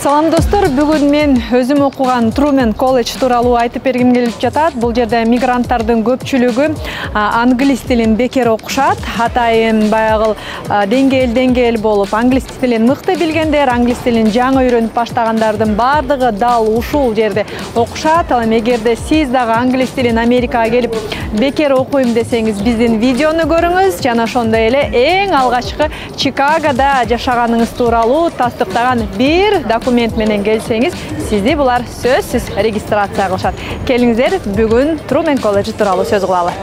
Салам достор, бүгүн мен өзүм окуган Truman колледж тууралуу айтып бергим келип жатат. Бул жерде мигранттардын көпчүлүгү англис тилин бекер окушат. Атайын баягы деңгээл болуп, англис тилин мыкты билгендер, англис тилин жаңы үйрөнүп баштагандардын бардыгы дал ушул жерде окушат. Ал эми эгерде сиз дагы англис тилин Америкага келип бекер окуйм десеңиз, биздин видеону көрүңүз. Жана ошондой эле эң алгачкы Чикагода жашаганыңыз тууралуу тастыктаган бир документ менен келсеңиз, сизди булар сөзсүз регистрация кылышат. Келиңиздер, бүгүн Truman колледжи тууралуу сөз кылалы.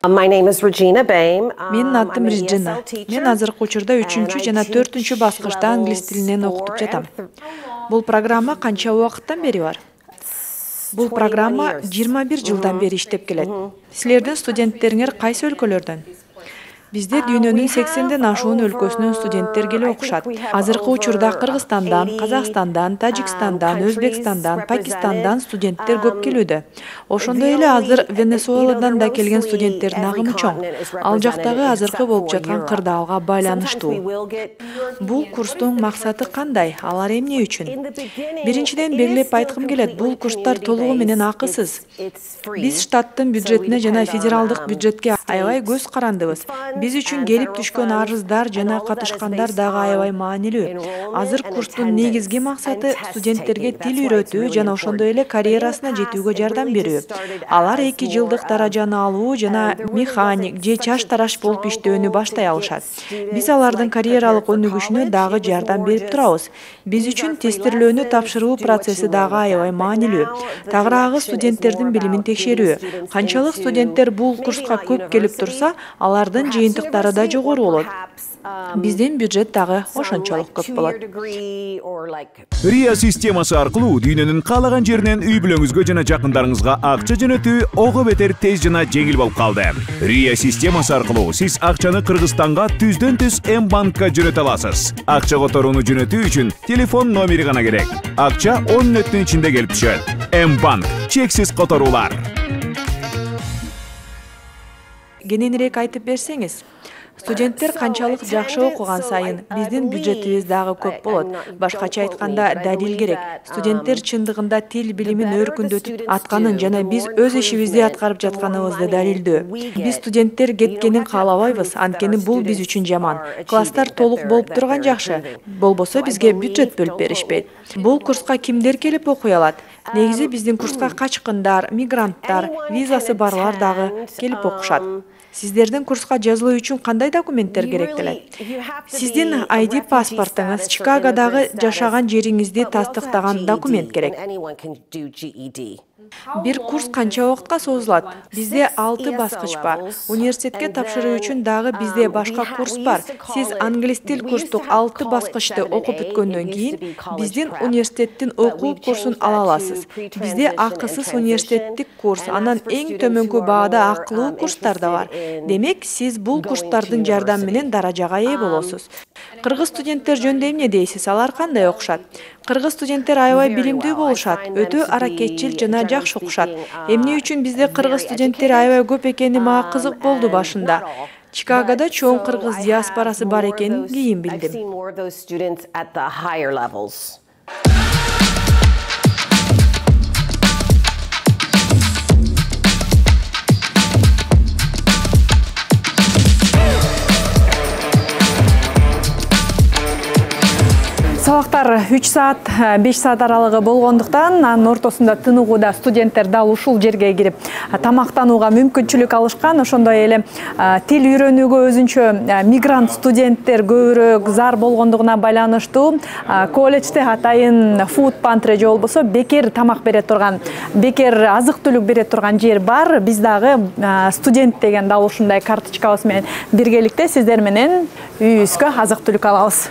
Менин атым Реджина. Мен азыркы учурда 3 жана 4 баскычта англис тилинен окутуп жатам. Бул программа канча убакыттан бери бар? Бул программа 21 жылдан бери иштеп келет. Силердин студенттериңер кайсы өлкөлөрдөн? Бизде дүйнөнүн 80ден ашуун өлкөсүнөн студенттер келип окушат. Азыркы учурда Кыргызстандан, Казакстандан, Тажикстандан, Өзбекстандан, Пакистандан студенттер көп келүүдө. Ошондой эле азыр Венесуэладан да келген студенттердин агымы чоң. Ал жактагы азыркы болуп жаткан кырдаалга байланыштуу. Бул курстун максаты кандай? Алар эмне үчүн? Биринчиден белгилеп айткым келет, бул курстар толугу менен акысыз. Биз штаттын бюджетине жана федералдык бюджетке аябай көз карандыбыз. Биз үчүн келип түшкөн арыздар жана катышкандар дагы аябай маанилүү. Азыр курстун негизги максаты студенттерге тил үйрөтүү жана ошондой эле карьерасына жетүүгө жардам берүү. Алар 2 жылдык даражаны алуу жана механик же чаш тараш болуп иштөөнү баштай алышат. Биз алардын карьералык өнүгүшүнө дагы жардам берип турабыз. Биз үчүн тестирлөөнү тапшыруу процесси дагы аябай маанилүү. Тагыраагы студенттердин билимин текшерүү. Канчалык студенттер бул курска көп келип турса, алардын жыйынтыктары да жогору болот. Биздин бюджет дагы ошончолук көп болот. Ria системасы аркылуу дүйнөнүн каалаган жеринен үй бүлөңүзгө жана жакындарыңызга акча жөнөтүү ого бетер тез жана жеңил болуп калды. Ria системасы аркылуу сиз акчаны Кыргызстанга түздөн-түз М-банкка жөнөтө аласыз. Акча которууну жөнөтүү үчүн телефон номери гана керек. Акча 10 мүнөттүн ичинде келип түшөт. М-банк, чексиз которуулар. Кененирээк айтып берсеңиз, студенттер канчалык жакшы окуган сайын биздин бюджетибиз дагы көп болот. Башкача айтканда, далил керек. Студенттер чындыгында тил билимин өркүндөтүп атканын жана биз өз ишибизди аткарып жатканыбызды далилдөө. Биз студенттер кеткенин каалабайбыз, анткени бул биз үчүн жаман. Класстар толук болуп турган жакшы, болбосо бизге бюджет бөлүп беришпейт. Бул курска кимдер келип окуй алат? Негизи биздин курска качкындар, мигранттар, визасы барлар дагы келип окушат. Сиздердин курска жазылуу үчүн кандай документтер керектелет? Сиздин ID паспортуңуз, Чикагодагы жашаган жериңизди тастыктаган документ керек. Бир курс канча убакытка созулат? Бизде 6 баскыч бар. Университетке тапшыруу үчүн дагы бизде башка курс бар. Сиз англис тил курстук 6 баскычты окуп бүткөндөн кийин биздин университеттин окуу курсун ала аласыз. Бизде акысыз университеттик курс, анан эң төмөнкү баада акылуу курстар да бар. Демек, сиз бул курстардын жардамы менен даражага ээ болосуз. Кыргыз студенттер жөнүндө эмне дейсиз? Алар кандай окушат? Кыргыз студенттер аябай билимдүү болушат, өтө аракетчил жана жакшы окушат. Эмне үчүн бизде кыргыз студенттер аябай көп экени мага кызык болду башында. Чикагода чоң кыргыз диаспорасы бар экенин кийин билдим. Сабактар 3 саат, 5 саат аралыгы болгондуктан, анын ортосунда тыныгууда студенттер дал ушул жерге кирип тамактанууга мүмкүнчүлүк алышкан. Ошондой эле тил үйрөнүүгө өзүнчө мигрант студенттер көбүрөөк зар болгондугуна байланыштуу колледжде атайын food pantry же болбосо бекер тамак бере турган, бекер азык-түлүк бере турган жер бар. Биз дагы студент деген дал ушундай карточкабыз менен биргеликте сиздер менен үйүбүзгө азык-түлүк алабыз.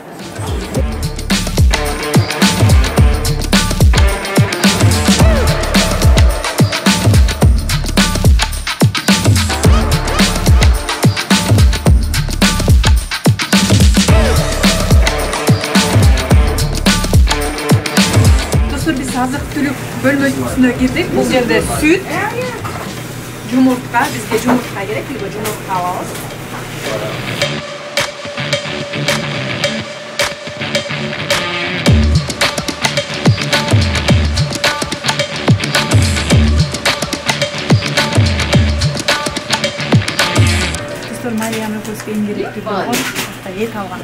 бөлмөсүнө кирдик. Бул жерде сүт, жумуртка, бизге жумуртка керек, либо жумуртка алабыз. Достор, Марияны көзгөн керектүү болгон эт алган.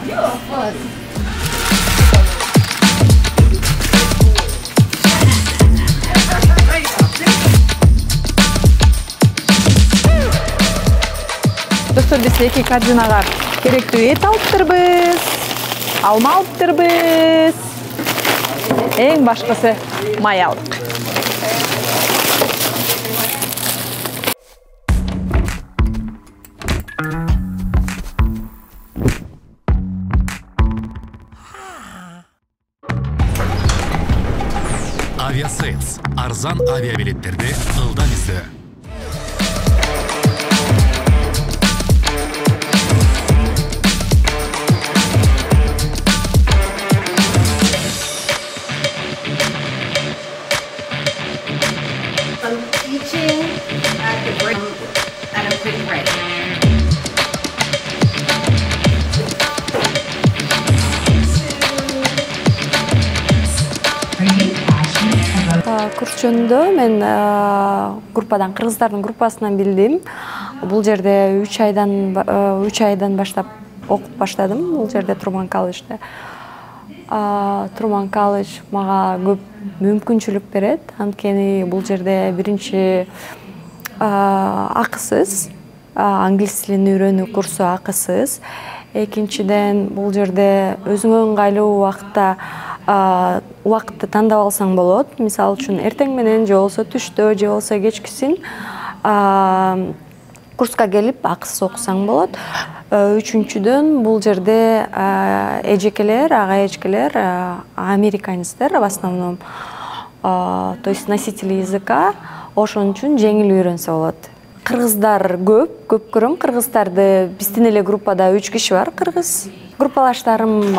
Достор, биз 2 корзинага керектүү эт алыптырбыз, алма алыптырбыз. Эң башкысы май алдык. Авиасейлс. Арзан авиабилеттерди ылдам издөө. Күрчөндө мен группадан, кыргыздардын группасынан билдим. Бул жерде 3 айдан баштап окуп баштадым. Бул жерде Труман колледжде. Труман колледж мага көп мүмкүнчүлүк берет. Анткени бул жерде биринчи акысыз, англис тилин үйрөнүү курсу акысыз. Экинчиден бул жерде өзүңө ыңгайлуу убакытты тандап алсаң болот. Мисалы үчүн эртең менен же болсо түштө же болсо кечкисин курска келип акысыз окусаң болот. Үчүнчүдөн бул жерде эжекелер, ага эжекелер американецтер в основном, то есть носители языка, ошон үчүн жеңил үйрөнсө болот. Кыргыздар көп көрөм. Кыргыздарды биздин эле группада 3 киши бар, кыргыз. Группалаштарым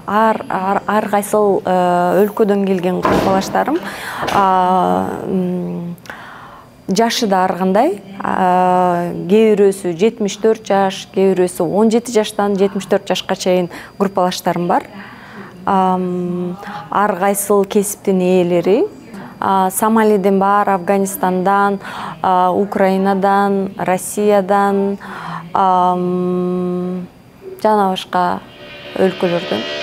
ар кайсыл өлкөдөн келген группалаштарым. Жашы да ар кандай. Кээ бирөөсү 74 жаш, кээ бирөөсү 17 жаштан 74 жашка чейин группалаштарым бар. Ар кайсыл кесиптин ээлери. Сомалиден бар, Афганистандан, Украинадан, Россиядан, жана башка өлкөлөрдөн.